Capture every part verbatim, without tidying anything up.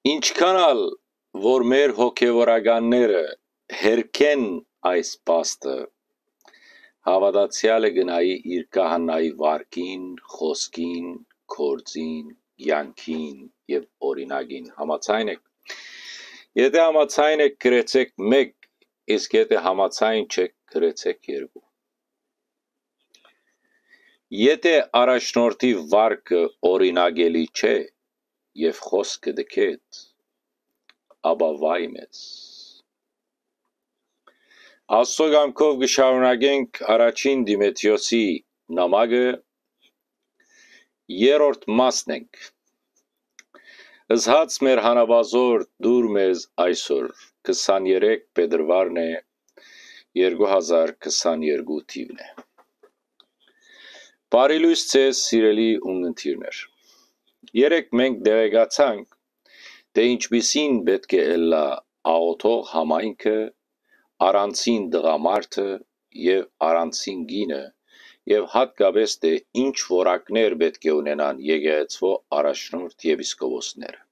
Ինչքան ալ որ մեր հոգեվորականները հերքեն այս փաստը, հաւատացեալը կը նայի իր քահանայի վարքին, խօսքին, գործին, կեանքին եւ օրինակին։ Համաձայն եք։ Եթէ համաձայն եք, գրեցեք մեկ, իսկ եթէ համաձայն չեք, գրեցեք երկու։ Եթէ առաջնորդի վարկը օրինակելի չէ եւ խօսքը դքետ, ապա վայ մեզ։ Աստուծոյ կամքով կը շարունակենք առաջին Տիմոթէոսի նամակը, երրորդ մասն ենք։ Զհաց մեր հանապազոր դուր մեզ այսօր, քսաներեք փետրուարն է, երկու հազար քսաներկու թիվն է։ Բարի լոյս ձեզ, սիրելի ունգընտիրներ։ Երեկ մենք տեղեկացանք, թէ ինչպիսին պէտք է ըլլայ աղօթող համայնքը, առանձին տղամարդը եւ առանձին կինը, եւ յատկապէս թէ ինչ որակներ պէտք է ունենան եկեղեցւոյ առաջնորդ եպիսկոպոսները։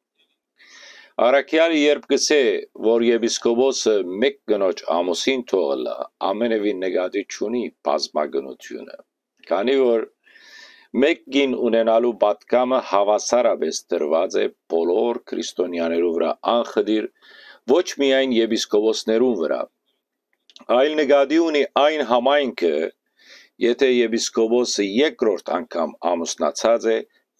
Առաքեալը երբ կ'ըսէ, որ եպիսկոպոսը մէկ կնոջ ամուսին թող ըլլայ, ամենեւին նկատի չունի բազմակնութիւնը, քանի որ մէկ կին ունենալու պատգամը հաւասարապէս տրուած է բոլոր քրիստոնեաներու վրայ անխտիր, ոչ միայն եպիսկոպոսներուն վրայ, այլ նկատի ունի այն համայնքը, եթէ եպիսկոպոսը երկրորդ անգամ ամուսնացած է,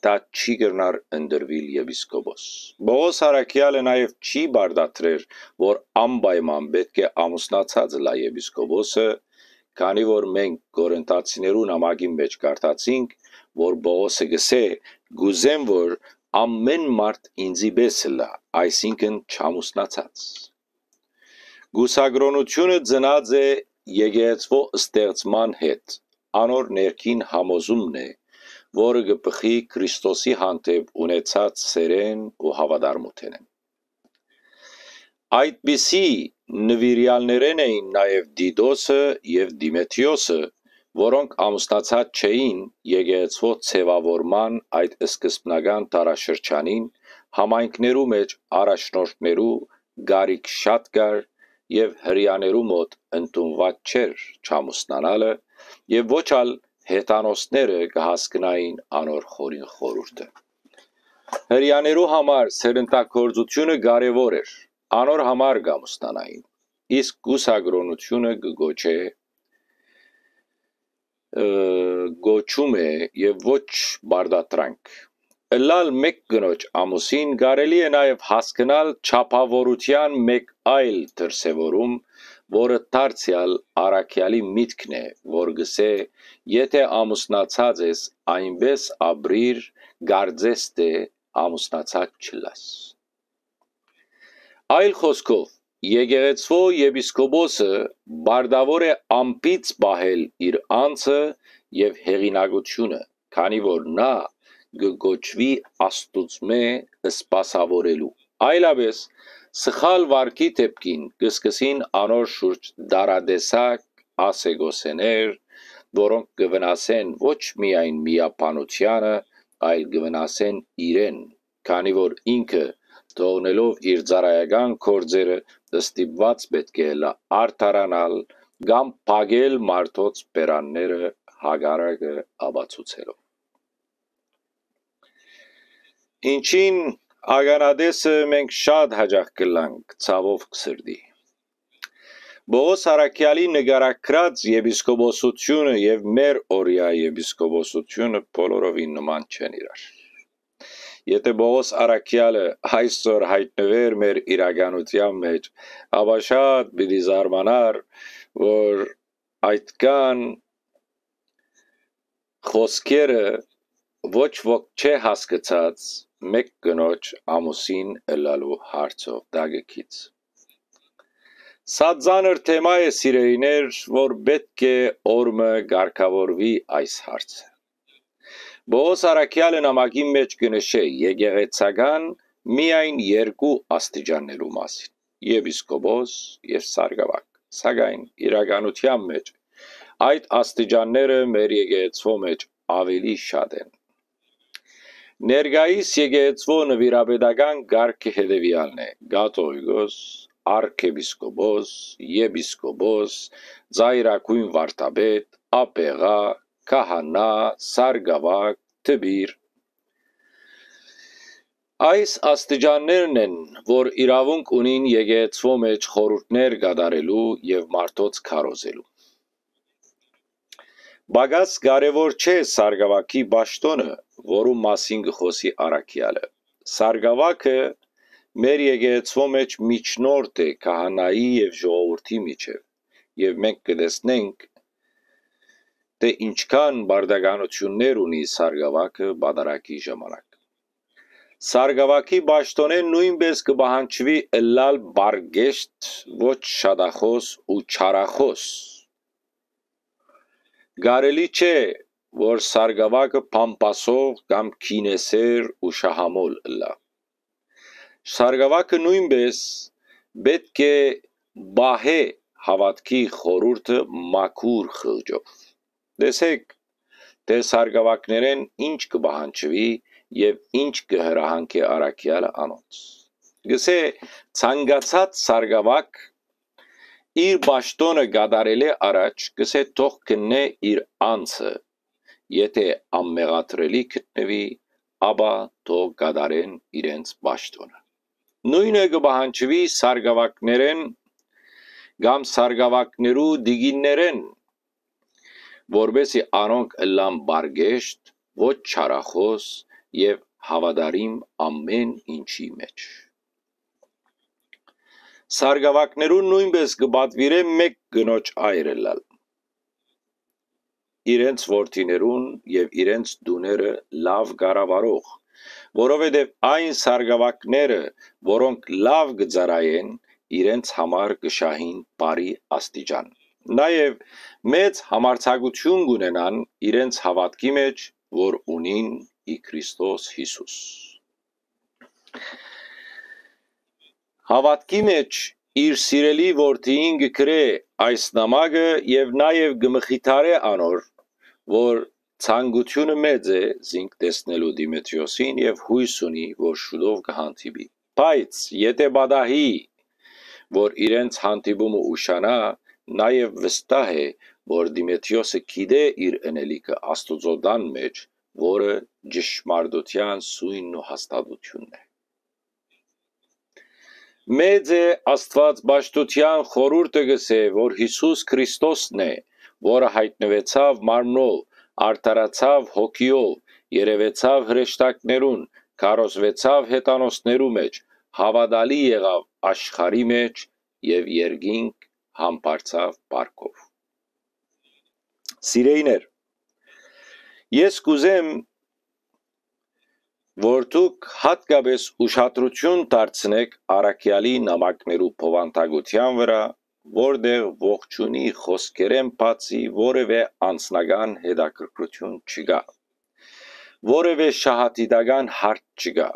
դա չի կրնար ընտրուիլ եպիսկոպոս։ Պողոս առաքեալը նաեւ չի պարտադրեր, որ անպայման պէտք է ամուսնացած ըլլայ եպիսկոպոսը, քանի որ մենք Կորինթացիներու նամակին մէջ կարդացինք, որ Պողոսը կ'ըսէ. «Կ'ուզեմ, որ ամէն մարդ ինծի պէս ըլլայ, այսինքն չամուսնացած»։ Կուսակրօնութիւնը ծնած է եկեղեցւոյ ստեղծման հետ, անոր ներքին համոզումն է, որը կը բխի Քրիստոսի հանդէպ ունեցած սէրէն ու հաւատարմութենէն։ Այդպիսի նուիրեալներէն էին նաեւ Տիտոսը եւ Տիմոթէոսը, որոնք ամուսնացած չէին եկեղեցւոյ ձեւաւորման այդ սկզբնական դարաշրջանին, համայնքներու մէջ առաջնորդներու կարիք շատ կար եւ հրեաներու մօտ ընդունուած չէր չամուսնանալը եւ ոչ ալ հեթանոսները կը հասկնային անոր խորին խորհուրդը։ Հրեաներու համար սերնդագործութիւնը կարեւոր էր, անոր համար կ'ամուսնանային, իսկ կուսակրօնութիւնը կը գոչէ, ը, գոչում է եւ ոչ պարտադրանք։ Ըլլալ մէկ կնոջ ամուսին կարելի է նաեւ հասկնալ չափաւորութեան մէկ այլ դրսեւորում, որը դարձեալ առաքեալի միտքն է, որ կ'ըսէ. «Եթէ ամուսնացած ես, այնպէս ապրիր, կարծես թէ ամուսնացած չըլլաս»։ Այլ խօսքով, եկեղեցւոյ եպիսկոպոսը պարտաւոր է անբիծ պահել իր անձը եւ հեղինակութիւնը, քանի որ նա կը կոչուի Աստուծմէ սպասաւորելու։ Այլապէս, սխալ վարքի դէպքին կը սկսին անոր շուրջ տարատեսակ ասեկոսեներ, որոնք կը վնասեն ոչ միայն միաբանութեանը, այլ կը վնասեն իրեն, քանի որ ինքը, թողնելով իր ծառայական գործերը, ստիպուած պէտք է ըլլայ արդարանալ կամ փակել մարդոց բերանները հակառակը ապացուցելով։ Ինչին ականատեսը մենք շատ յաճախ կ'ըլլանք, ցաւով սրտի։ Պողոս առաքեալի նկարագրած եպիսկոպոսութիւնը եւ մեր օրեայ եպիսկոպոսութիւնը բոլորովին նման չեն իրար։ Եթէ Պողոս առաքեալը այսօր յայտնուէր մեր իրականութեան մէջ, ապա շատ պիտի զարմանար, որ այդքան խօսքերը ոչ ոք չէ հասկցած մէկ կնոջ ամուսին ըլլալու հարցով, դա կը գիծ։ Սա ծանր թեմայ է, սիրելիներ, որ պէտք է օրմը կարգաւորուի այս հարցը։ Պողոս առաքեալը նամակին մէջ կը նշէ եկեղեցական միայն երկու աստիճաններու մասին՝ եպիսկոպոս եւ սարկաւագ, սակայն իրականութեան մէջ այդ աստիճանները մեր եկեղեցւոյ մէջ աւելի շատ են։ Ներկայիս եկեղեցւոյ նուիրապետական կարգը հետեւեալն է. կաթողիկոս, արքեպիսկոպոս, եպիսկոպոս, ծայրագոյն վարդապետ, աբեղայ, քահանայ, սարկաւագ, դպիր։ Այս աստիճաններն են, որ իրաւունք ունին եկեղեցւոյ մէջ խորհուրդներ կատարելու եւ մարդոց քարոզելու։ Պակաս կարեւոր չէ սարկաւագի պաշտօնը, որու մասին կը խօսի առաքեալը։ Սարկաւագը մեր եկեղեցւոյ մէջ միջնորդ է քահանայի եւ ժողովուրդի միջեւ, եւ մենք կը տեսնենք, թէ ինչքան պարտականութիւններ ունի սարկաւագը պատարագի ժամանակ։ Սարկաւագի պաշտօնէն նոյնպէս կը պահանջուի ըլլալ պարկեշտ, ոչ շատախօս ու չարախօս։ Կարելի չէ, որ սարկաւագը փամփասող կամ կինեսեր ու շահամոլ ըլլայ։ Սարկաւագը նոյնպէս պէտք է պահէ հաւատքի խորհուրդը մաքուր խղճով։ Տեսէք, թէ սարկաւագներէն ինչ կը պահանջուի եւ ինչ կը հրահանգէ առաքեալը անոնց։ Կ'ըսէ, ցանկացած սարկաւագ իր պաշտօնը կատարելէ առաջ կ'ըսէ թող քննէ իր անձը, եթէ անմեղադրելի գտնուի, ապա թող կատարեն իրենց պաշտօնը։ Նոյնը կը պահանջուի սարկաւագներէն կամ սարկաւագներու տիկիններէն, որպէսզի անոնք ըլլան պարկեշտ, ոչ չարախօս եւ հաւատարիմ ամէն ինչի մէջ։ Սարկաւագներուն նոյնպէս կը պատուիրէ մէկ կնոջ այր ըլլալ, իրենց որդիներուն եւ իրենց տուները լաւ կառավարող, որովհետեւ այն սարկաւագները, որոնք լաւ կը ծառայեն, իրենց համար կը շահին բարի աստիճան։ Նաեւ մեծ համարձակութիւն կ'ունենան իրենց հաւատքի մէջ, որ ունին ի Քրիստոս Յիսուս։ Հաւատքի մէջ իր սիրելի որդիին կը գրէ այս նամակը եւ նաեւ կը մխիթարէ անոր, որ ցանկութիւնը մեծ է զինք տեսնելու Դիմեթրիոսին եւ յոյս ունի, որ շուտով կը հանդիպի։ Բայց եթէ պատահի, որ իրենց հանդիպումը ուշանայ, նաեւ վստահ է, որ Դիմեթրիոսը գիտէ իր ընելիքը Աստուծոյ տան մէջ, որը ճշմարտութեան սոյնն ու հաստատութիւնն է։ Մեծ է Աստուած պաշտութեան խորհուրդը կ'ըսէ, որ Յիսուս Քրիստոսն է, որը յայտնուեցաւ մարմնով, արդարացաւ հոգիով, երեւեցաւ հրեշտակներուն, քարոզուեցաւ հեթանոսներու մէջ, հաւատալի եղաւ աշխարհի մէջ եւ երկինք համբարձաւ փառքով։ Սիրեյներ, ես կ'ուզեմ, որ դուք յատկապէս ուշադրութիւն դարձնէք առաքեալի նամակներու բովանդակութեան վրայ, որտեղ ողջունի խօսքերէն բացի որեւէ անձնական հետաքրքրութիւն չկայ, որեւէ շահադիտական հարց չկայ։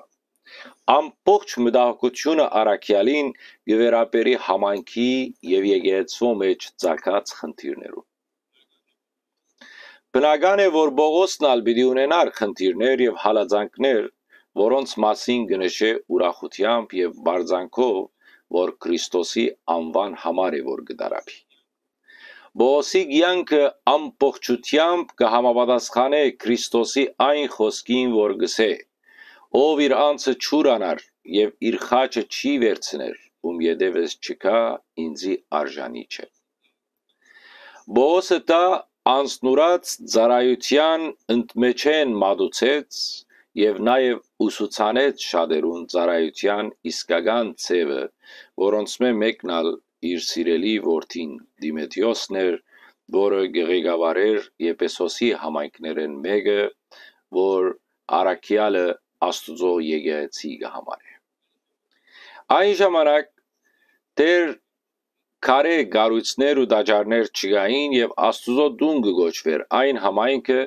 Ամբողջ մտահոգութիւնը առաքեալին կը վերաբերի համայնքի եւ եկեղեցւոյ մէջ ծագած խնդիրներուն։ Բնական է, որ Պողոսն ալ պիտի ունենար խնդիրներ եւ հալածանքներ, որոնց մասին կը նշէ ուրախութեամբ եւ պարծանքով, որ Քրիստոսի անուան համար է, որ կը տառապի։ Պողոսի կեանքը ամբողջութեամբ կը համապատասխանէ Քրիստոսի այն խօսքին, որ կ'ըսէ. «Ով իր անձը չուրանար եւ իր խաչը չի վերցներ, ում ետեւս չգայ, ինծի արժանի չէ»։ Պողոսը դա անձնուրաց ծառայութեան ընդմէջէն մատուցեց եւ նաեւ ուսուցանեց շատերուն ծառայութեան իսկական ձեւը, որոնցմէ մէկն ալ իր սիրելի որդին Դիմեթրիոսն էր, որը կը ղեկավարէր Եփեսոսի համայնքներէն մէկը, որ առաքեալը Աստուծոյ եկեղեցի կը համարէ։ Այն ժամանակ դեռ քարէ կառոյցներ ու տաճարներ չկային եւ Աստուծոյ տուն կը կոչուէր այն համայնքը,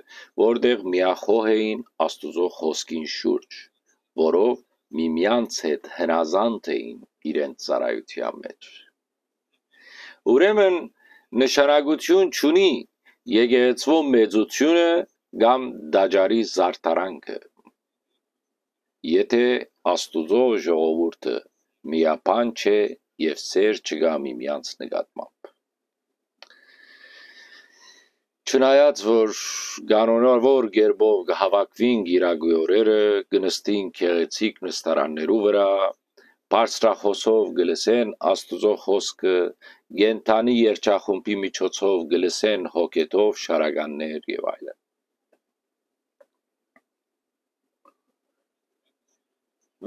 որտեղ միախոհ էին Աստուծոյ խօսքին շուրջ, որով միմեանց հետ հնազանդ էին իրենց ծառայութեան մէջ։ Ուրեմն նշանակութիւն չունի եկեղեցւոյ մեծութիւնը կամ տաճարի զարդարանքը։ եթէ Աստուծոյ ժողովուրդը միաբան չէ եւ սէր չկայ միմեանց նկատմամբ։ Չնայած որ կանոնաւոր կերպով կը հաւաքուին կիրակի օրերը, կը նստին գեղեցիկ նստարաններու վրայ, բարձրախօսով կը լսեն Աստուծոյ խօսքը, կենդանի երգչախումբի միջոցով կը լսեն հոգեթով շարականներ եւ այլն։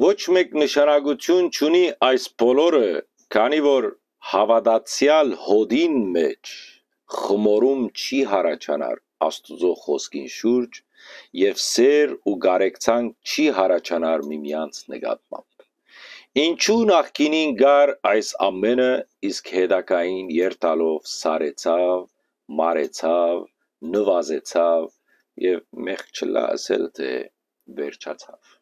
Ոչ մէկ նշանակութիւն չունի այս բոլորը, քանի որ հաւատացեալ հօդին մէջ խմորում չի յառաջանար Աստուծոյ խօսքին շուրջ եւ սէր ու կարեկցանք չի յառաջանար միմեանց նկատմամբ։ Ինչու նախկինին կար այս ամէնը, իսկ հետագային երթալով սառեցաւ, մարեցաւ, նուազեցաւ եւ մեղք չլայ ըսել թէ վերջացաւ։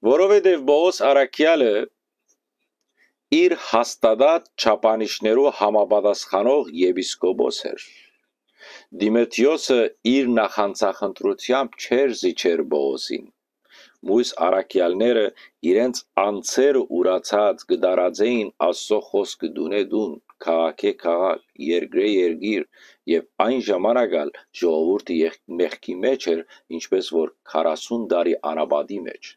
Որովհետեւ Պողոս առաքեալը իր հաստատած չափանիշներու համապատասխանող եպիսկոպոս էր։ Դիմեթրիոսը իր նախանձախնդրութեամբ չէր զիջեր Պողոսին։ Մոյս առաքեալները իրենց անձերը ուրացած կը տարածէին Աստուծոյ խօսքը տունէ տուն, քաղաքէ քաղաք, երկրէ երկիր, եւ այն ժամանակ ալ ժողովուրդը եղ-, մեղքի մէջ էր, ինչպէս որ քառասուն տարի անապատի մէջ։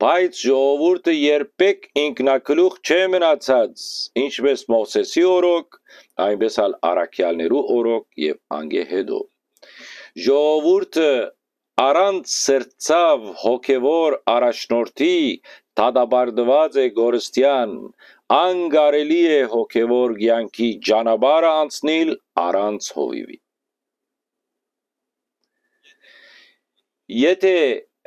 Բայց ժողովուրդը երբեք ինքնագլուխ չէ մնացած, ինչպէս Մովսէսի օրոք, այնպէս ալ առաքեալներու օրոք եւ անկէ հետո։ Ժողովուրդը առանց սրտցաւ հոգեւոր առաջնորդի դատապարտուած է կորստեան, անկարելի է հոգեւոր կեանքի ճանապարհը անցնիլ առանց հովիւի։ Եթէ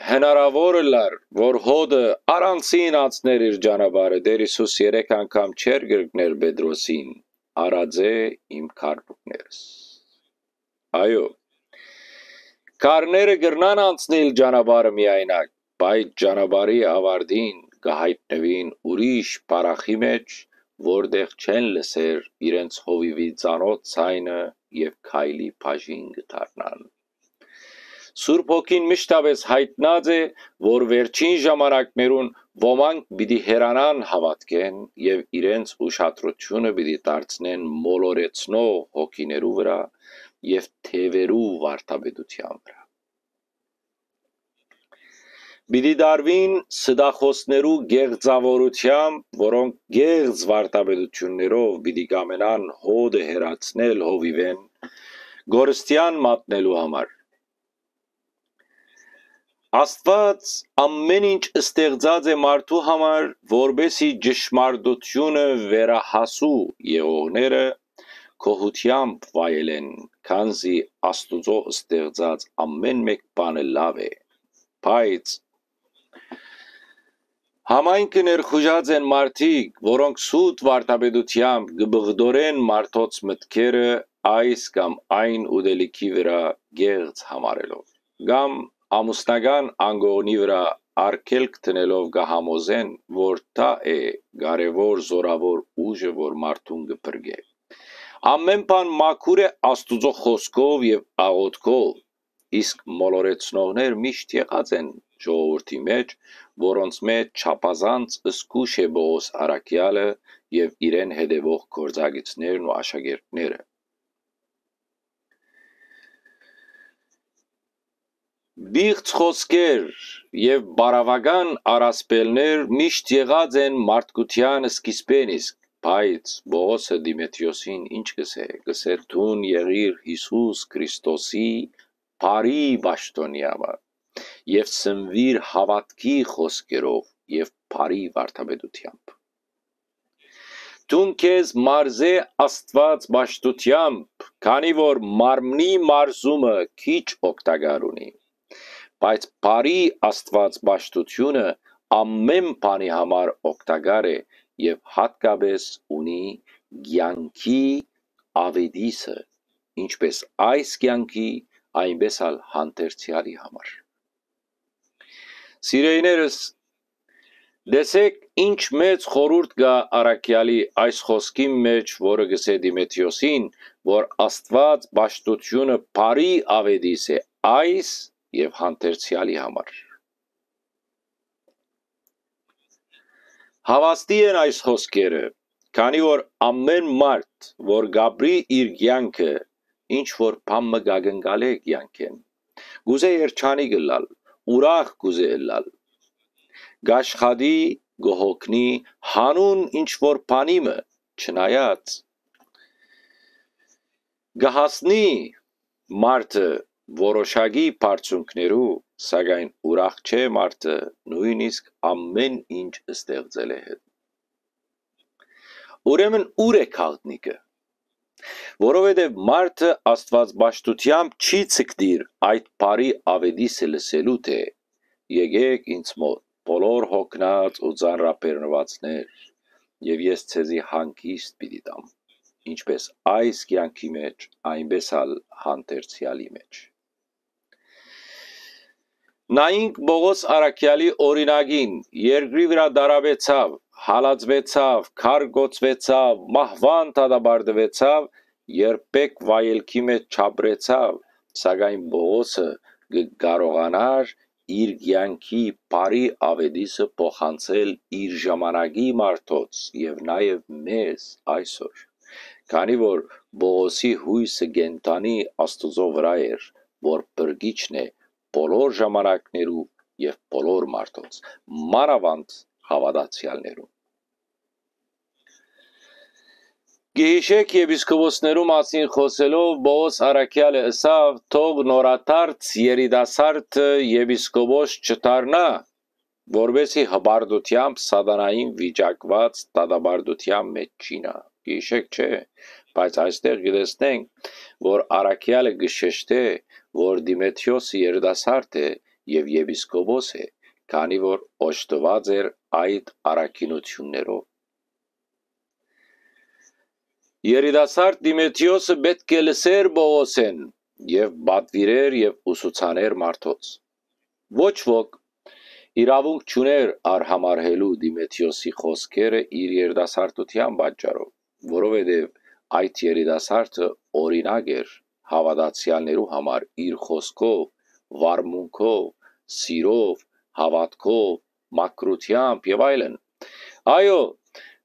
հնարաւոր ըլլար, որ հօդը առանցին անցներ իր ճանապարհը, Տէր Յիսուս երեք անգամ չէր կրկներ Պետրոսին. «Առած է իմ գարբուկներս»։ Այո, քարները կրնան անցնել ճանապարհը միայնակ, բայց ճանապարհի ավարտին կը յայտնուին ուրիշ պարախի մէջ, որտեղ չեն լսեր իրենց հովիւի ծանօթ ձայնը եւ քայլի բաժին կը դառնան։ Սուրբ Հոգին միշտապէս յայտնած է, որ վերջին ժամանակներուն ոմանք պիտի հեռանան հաւատքէն եւ իրենց ուշադրութիւնը պիտի դարձնեն մոլորեցնող հոգիներու վրայ եւ թեւերու վարդապետութեան վրայ։ Պիտի տարուին ստախոսներու կեղծաւորութեամբ, որոնք կեղծ վարդապետութիւններով պիտի կամենան հօդը հեռացնել հովիւէն, կորստեան մատնելու համար։ Աստուած ամէն ինչ ստեղծած է մարդու համար, որպէսզի ճշմարտութիւնը վերահասու եղողները գոհութեամբ վայելեն, քանզի Աստուծոյ ստեղծած ամէն մէկ բանը լաւ է։ Բայց համայնքը ներխուժած են մարդիկ, որոնք սուտ վարդապետութեամբ կը բղդորեն մարդոց մտքերը այս կամ այն ուտելիքի վրայ կեղծ համարելով, կամ ամուսնական անկողնի վրայ արգելք դնելով կը համոզեն, որ դա է կարեւոր զօրաւոր ուժը, որ մարդուն կը փրկէ։ Ամէն բան մաքուր է Աստուծոյ խօսքով եւ աղօթքով, իսկ մոլորեցնողներ միշտ եղած են ժողովուրդի մէջ, որոնց մէջ չափազանց զգոյշ է Պողոս առաքեալը եւ իրեն հետեւող գործակիցներն ու աշակերտները։ Բիղծ խօսքեր եւ բարաւական առասպելներ միշտ եղած են մարդկութեան սկիզբէն իսկ, բայց Պողոսը Դիմեթրիոսին ինչ կ'ըսէ, կ'ըսէ. «Դուն եղիր Յիսուս Քրիստոսի բարի պաշտօնեամը եւ սնվիր հաւատքի խօսքերով եւ բարի վարդապետութեամբ։ Դուն քեզ մարզէ Աստուած պաշտութեամբ, քանի որ մարմնի մարզումը քիչ օգտակար ունի, բայց բարի Աստուած պաշտութիւնը ամէն բանի համար օգտակար է եւ յատկապէս ունի կեանքի աւետիսը, ինչպէս այս կեանքի, այնպէս ալ հանդերձեալի համար»։ Սիրելիներս, տեսէք, ինչ մեծ խորհուրդ կայ առաքեալի այս խօսքին մէջ, որը կ'ըսէ Դիմեթրիոսին, որ Աստուած պաշտութիւնը բարի աւետիս է, այս եւ հանդերձեալի համար։ Հաւաստի են այս խօսքերը, քանի որ ամէն մարդ, որ կ'ապրի իր կեանքը, ինչ որ բան մը կ'ակնկալէ կեանքէն, կ'ուզէ երջանիկ ըլլալ, ուրախ կ'ուզէ ըլլալ, կ'աշխատի, կը հոգնի, յանուն ինչ որ բանի մը, չնայած կը հասնի մարդը որոշակի բարձունքներու, սակայն ուրախ չէ մարդը, նոյնիսկ ամէն ինչ ստեղծելէ հետ։ Ուրեմն ո՞ւր է գաղտնիքը։ Որովհետեւ մարդը աստուածպաշտութեամբ չի ցկտիր այդ բարի աւետիսը լսելու, թէ «Եկէք ինձ մօտ, բոլոր հոգնած ու ծանրաբեռնուածներ, եւ ես ձեզի հանգիստ պիտի տամ»։ Ինչպէս այս կեանքի մէջ, այնպէս ալ հանդերձեալի մէջ։ Նայինք Պողոս առաքեալի օրինակին. երկրի վրայ տարապեցաւ, հալածուեցաւ, քարկոծուեցաւ, մահուան դատապարտուեցաւ, երբեք վայելքի մէջ չապրեցաւ, սակայն Պողոսը կը կարողանար իր կեանքի բարի աւետիսը փոխանցել իր ժամանակի մարդոց եւ նաեւ մեզ այսօր, քանի որ Պողոսի յոյսը կենդանի Աստուծոյ վրայ էր, որ փրկիչն է բոլոր ժամանակներու եւ բոլոր մարդոց, մանաւանդ հաւատացեալներուն։ Գիհիշէք, եպիսկոպոսներու մասին խօսելով Պողոս առաքեալը ըսաւ. «Թող նորադարձ երիտասարդը եպիսկոպոս չդառնայ, որպէս զի հպարտութեամբ սատանային վիճակուած դատապարտութեան մէջ չի նայ»։ Գիհիշէք, չէ՞։ Բայց այստեղ կը տեսնենք, որ առաքեալը կը շեշտէ, որ Դիմեթրիոսը երիտասարդ է եւ եպիսկոպոս է, քանի որ օժտուած էր այդ առաքինութիւններով։ Երիտասարդ Դիմեթրիոսը պէտք է լսէր Պողոսէն եւ պատուիրէր եւ ուսուցանէր մարդոց։ Ոչ ոք իրաւունք չունէր արհամարհելու Դիմեթրիոսի խօսքերը իր երիտասարդութեան պատճառով, որովհետեւ այդ երիտասարդը օրինակ էր հաւատացեալներու համար իր խօսքով, վարմունքով, սիրով, հաւատքով, մաքրութեամբ եւ այլն։ Այո,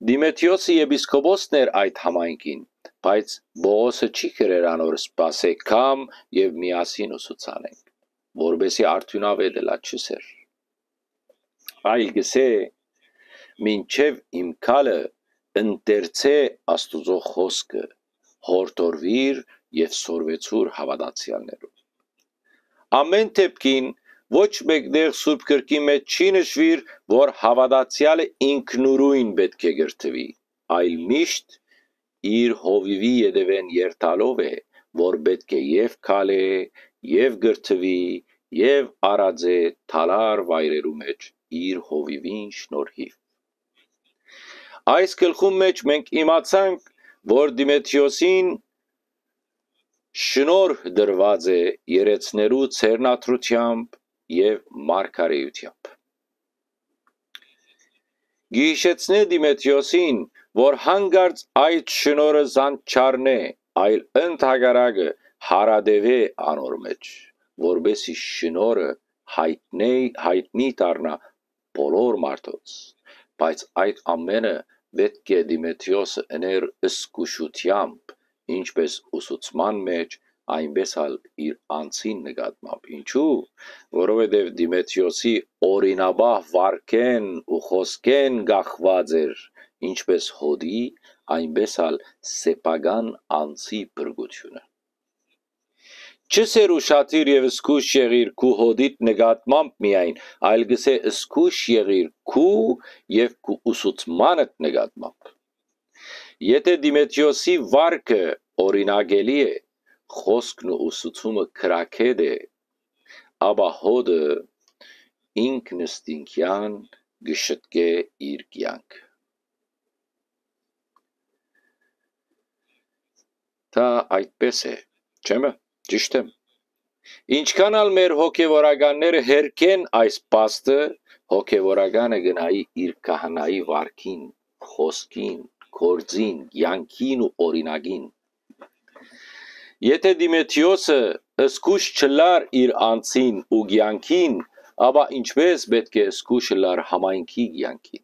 Դիմեթրիոսը եպիսկոպոսն էր այդ համայնքին, բայց Պողոսը չի կրեր անոր սպասէ կամ եւ միասին ուսուցանենք, որպէս զի արդիւնաւէտ ըլլայ, չ'ըսէր։ Այլ կ'ըսէ. «Մինչեւ իմ գալը ընթերցէ Աստուծոյ խօսքը, յորդորուիր եւ սորվեցուր հաւատացեալներուն»։ Ամէն դէպքին, ոչ մէկ տեղ Սուրբ Գրքին մէջ չի նշուիր, որ հաւատացեալը ինքնուրոյն պէտք է կրթուի, այլ միշտ իր հովիւի ետեւէն երթալով է, որ պէտք է եւ քալէ, եւ կրթուի, եւ արածէ թալար վայրերու մէջ իր հովիւին շնորհիւ։ Այս գլխուն մէջ մենք իմացանք, որ Դիմեթրիոսին շնորհ տրուած է երեցներու ձեռնադրութեամբ եւ մարգարէութեամբ։ Գիհիշեցնէ Դիմեթրիոսին, որ հանկարծ այդ շնորհը զանչառնէ, այլ ընդհակառակը հարատեւէ անոր մէջ, որպէս զի շնորհը յայտնէ, յայտնի դառնայ բոլոր մարդոց, բայց այդ ամէնը պէտք է Դիմեթրիոսը ընէր զգուշութեամբ, ինչպէս ուսուցման մէջ, այնպէս ալ իր անձին նկատմամբ։ Ինչու՞։ Որովհետեւ Դիմեթրիոսի օրինապահ վարքէն ու խօսքէն կախուած էր ինչպէս հօտի, այնպէս ալ սեփական անձի փրկութիւնը։ Չ'ըսէր ուշադիր եւ զգոյշ եղիր քու հօտիդ նկատմամբ միայն, այլ կ'ըսէ զգոյշ եղիր քու եւ քու ուսուցմանդ նկատմամբ։ Եթէ Դիմեթրիոսի վարքը օրինակելի է, խօսքն ու ուսուցումը քրագէտ է, ապա հօտը ինքնըստինքեան կը շտկէ իր կեանքը։ Դա այդպես է, չէ՞մ է, ճիշդ եմ։ Ինչքան ալ մեր հոգեվորականները հերքեն այս փաստը, հոգեվորականը կը նայի իր քահանայի վարքին, խօսքին, գործին, կեանքին ու օրինակին։ Եթէ Դիմեթրիոսը զգուշ չըլլար իր անձին ու կեանքին, ապա ինչպէ՞ս պէտք է զգուշ ըլլար համայնքի կեանքին։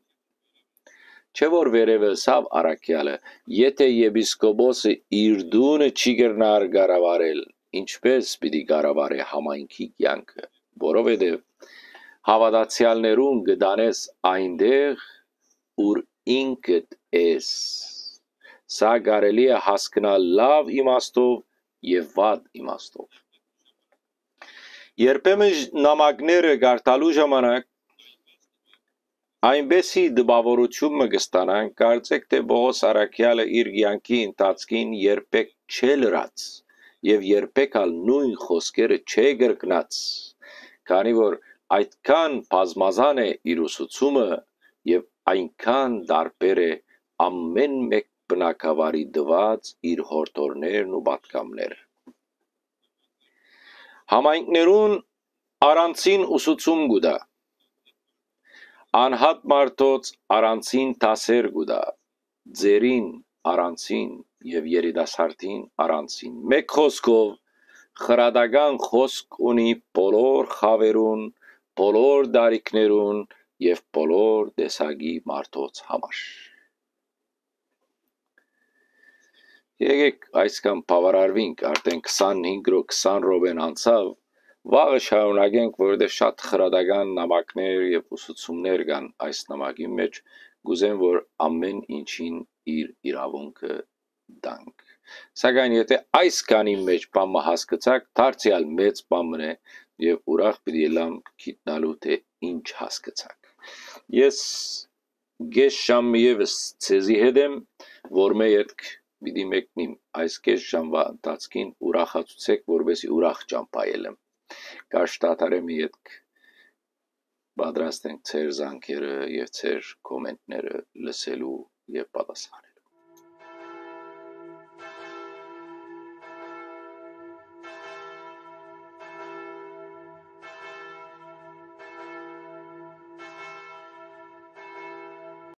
Չէ՞ որ վերեւը ըսաւ առաքեալը, եթէ եպիսկոպոսը իր տունը չի կրնար կառավարել, ինչպէ՞ս պիտի կառավարէ համայնքի կեանքը, որովհետեւ հաւատացեալներուն կը տանես այնտեղ, ուր ինքդ ես։ Սա կարելի է հասկնալ լաւ իմաստով եւ վատ իմաստով։ Երբեմն նամակները կարդալու ժամանակ այնպէսի տպաւորութիւն մը կը ստանանք, կարծէք թէ Պողոս առաքեալը իր կեանքի ընթացքին երբեք չէ լռած եւ երբեք ալ նոյն խօսքերը չէ կրկնած, քանի որ այդքան բազմազան է իր ուսուցումը եւ այնքան տարբեր է ամէն մէկ բնակավարի տուած իր յորդորներն ու պատգամները։ Համայնքներուն առանձին ուսուցում կու տայ, անհատ մարդոց առանձին դասեր կու տայ, ծերին առանձին եւ երիտասարդին առանձին։ Մէկ խօսքով, խրատական խօսք ունի բոլոր խաւերուն, բոլոր տարիքներուն եւ բոլոր տեսակի մարդոց համար։ Եկեք այսքան բաւարարուինք, արդէն քսանհինգ րոք քսան րոպեն անցաւ, վաղը շարունակենք, որովհետեւ շատ խրատական նամակներ եւ ուսուցումներ կան այս նամակին մէջ, կ'ուզեմ որ ամէն ինչին իր իրաւունքը տանք։ Սակայն եթէ այս քանի մէջ բան մը հասկցաք, դարձեալ մեծ բան մը է եւ ուրախ պիտի ըլլամ գիտնալու թէ ինչ հասկցաք։ Ես կէս ժամ եւս ձեզի հետ եմ, որ մէ ետք պիտի մեկնիմ։ Այս կէս ժամվա ընթացքին ուրախացուցէք, որպեսզի ուրախ ճամբայել եմ։ Կաշ դադարեմ ետք պատրաստ ենք ձեր զանգերը եւ ձեր կոմենտները լսելու եւ պատասխանել։